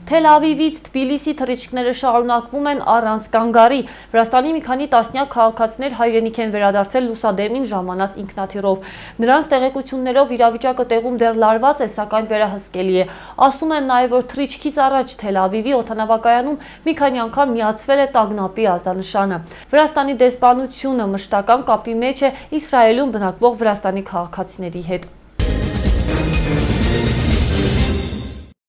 Թել Ավիվից Թբիլիսի թռիչքները շարունակվում են առանց կանգարի։ Վրաստանի մի քանի տասնյակ քաղաքացիներ հայրենիք են վերադարձել լուսադեմին ժամանած ինքնաթիռով։ Նրանց տեղեկություններով իրավիճակը տեղում դեռ լարված է, սակայն վերահսկելի է։ Ասում են նաև, որ թռիչքից առաջ Թել Ավիվի օդանավակայանում մի քանի անգամ միացվել է տագնապի ազդանշանը։ Վրաստանի դեսպանությունը մշտական կապի մեջ է Իսրայելում բնակվող վրաստանի քաղաքացիների հետ։